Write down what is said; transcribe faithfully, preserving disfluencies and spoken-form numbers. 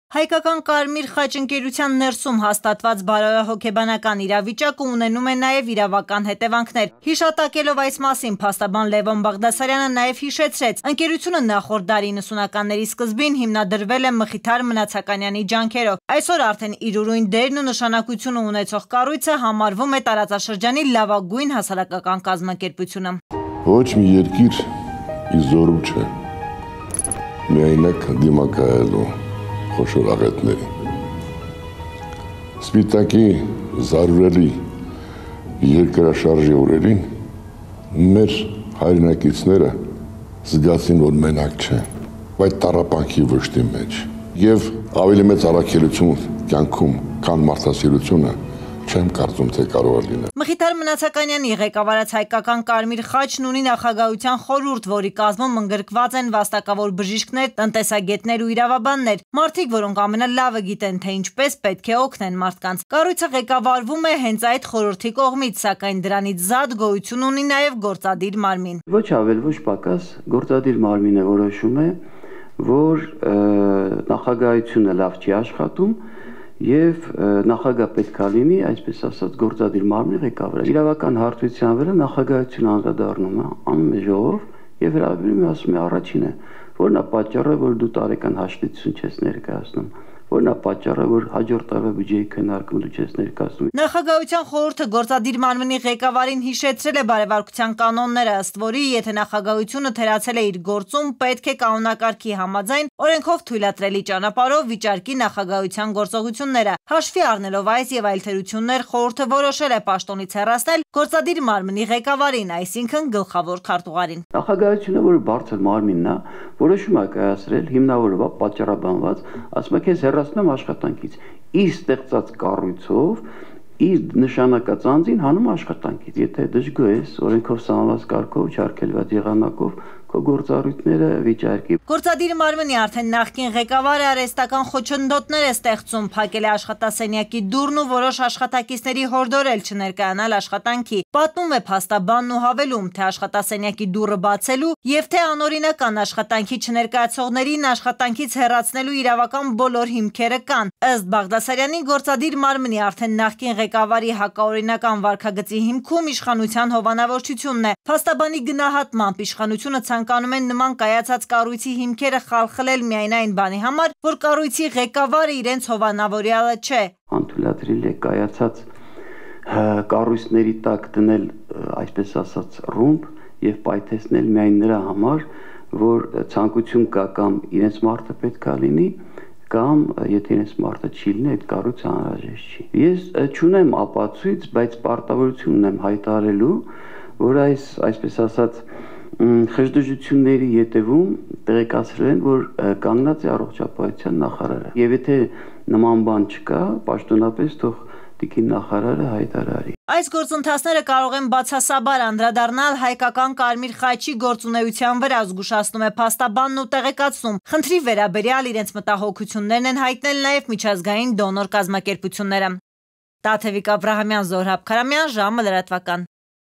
Հայկական Կարմիր խաչ ընկերության ներսում հաստատված բարոյահոգեբանական իրավիճակը ունենում է նաև իրավական հետևանքներ։ Հիշատակելով այս մասին, փաստաբան Լևոն Բաղդասարյանը նաև հիշեցրեց, ընկերությունը նախորդ դարի նսունականների սկզբին հիմնադրվել է Մխիթար Մնացականյանի ջանքերով։ Այսօր արդեն իր ուրույն դերն ու նշանակությունը ունեցող կառույցը համարվում է տարածաշրջանի լավագույն հասարակական կազմակերպությունը։ Ոչ մի երկիր իզորու չէ, միայնակ դիմակայելու խոշոր աղետների։ Սպիտակի զարուրելի երկրաշարժի օրերին մեր հայրենակիցները զգացին, որ մենակ չեն, այդ տառապանքի վշտի մեջ եւ ավելի մեծ առաքելություն կյանքում, քան մարդասիրությունը չեմ կարծում, թե կարող է լինել։ Մխիթար Մնացականյանի ղեկավարած հայկական Կարմիր խաչն ունի նախագահության խորհուրդ, որի կազմում ընդգրկված են վաստակավոր բժիշկներ, տնտեսագետներ ու իրավաբաններ, մարդիկ, որոնք ամենալավը գիտեն, թե ինչպես պետք է օգնեն մարդկանց։ Կառույցը ղեկավարվում է հենց այդ խորհրդի կողմից, սակայն դրանից զատ գոյություն ունի նաև գործադիր մարմին։ Ոչ ավել, ոչ պակաս գործադիր մարմինը որոշում է, որ նախագահությունը լավ չի աշխատում եւ նախագահ պետք է լինի, այսպես ասած, գործադիր մարմնի ղեկավարը։ Իրավական հարթության վրա նախագահությունը անդրադառնում է, անում է ժողով եւ հրավիրում է, ասում է առաջինը, որն է պատճառը, որ դու տարեկան հաշվետվություն չես ներկայացնում, որն է պատճառը, որ հաջորդ տարվա բյուջեի քննարկում դու չես ներկայացնում։ Նախագահության խորհուրդը գործադիր մարմնի ղեկավարին հիշեցրել է բարեվարկության կանոնները, ըստ որի, եթե նախագահությունը թերացել է իր գործում, պետք է կանոնակարգի համաձայն օրենքով թույլատրելի ճանապարհով վիճարկի նախագահության գործողությունները։ Հաշվի առնելով այս եւ այլ թերություններ, խորհուրդը որոշել է պաշտոնից հեռացնել գործադիր մարմնի ղեկավարին, այսինքն գլխավոր քարտուղարին։ Նախագահությունը, որը բարձր մարմինն է, որոշում է կայացրել հիմնավորված պատճառաբանված, ասում է քեզ հեռացնեմ աշխատանքից, իր ստեղծած կառույցով իր նշանակած անձին հանում աշխատանքից։ Եթե դժգոհ ես օրենքով սահմանված կարգով չարգելված եղանակով քո գործառույթները վիճարկի։ Գործադիր մարմնի արդեն նախկին ղեկավարը արհեստական խոչընդոտներ է ստեղծում, փակել է աշխատասենյակի դուռն ու որոշ աշխատակիցների հորդորել չներկայանալ աշխատանքի։ Պատմում է փաստաբանն ու հավելում, թե աշխատասենյակի դուռը բացելու եւ թե անօրինական աշխատանքի չներկայացողներին աշխատանքից հեռացնելու իրավական բոլոր հիմքերը կան։ Ըստ Բաղդասարյանի, գործադիր մարմնի արդեն նախկին ղեկավարի հակաօրինական վարքագծի հիմքում իշխանության հովանավորչությունն է։ Փաստաբանի գնահատմամբ իշխանությունը ցանկանում են նման կայացած կառույցի հիմքերը խալխլել միայն այն բանի համար, որ կառույցի ղեկավարը իրենց հովանավորյալը չէ։ Անթույլատրել է կայացած կառույցների տակ դնել, այսպես ասած, ռումբ եւ պայթեցնել միայն նրա համար, որ ցանկություն կա կամ իրենց մարդը պետք է լինի, կամ եթե իրենց մարդը չի լինի, այդ կառույցը անհրաժեշտ չի։ Ես չունեմ ապացույց, բայց պարտավորություն ունեմ հայտարարելու, որ այս, այսպես ասած, խժդժությունների ետևում տեղեկացրել են, որ կանգնած է առողջապահության նախարարը։ Եվ եթե նման բան չկա, պաշտոնապես թող տիկին նախարարը հայտարարի։ Այս գործընթացները կարող են բացասաբար անդրադառնալ հայկական Կարմիր խաչի գործունեության վրա, զգուշացնում է փաստաբանն ու տեղեկացնում։ Խնդրի վերաբերյալ իրենց մտահոգություններն են հայտնել նաև միջազգային դոնոր կազմակերպությունները։ Տաթևիկ Աբրահամյան, Զոհրաբ Քարամյան, ժամը լրատվական։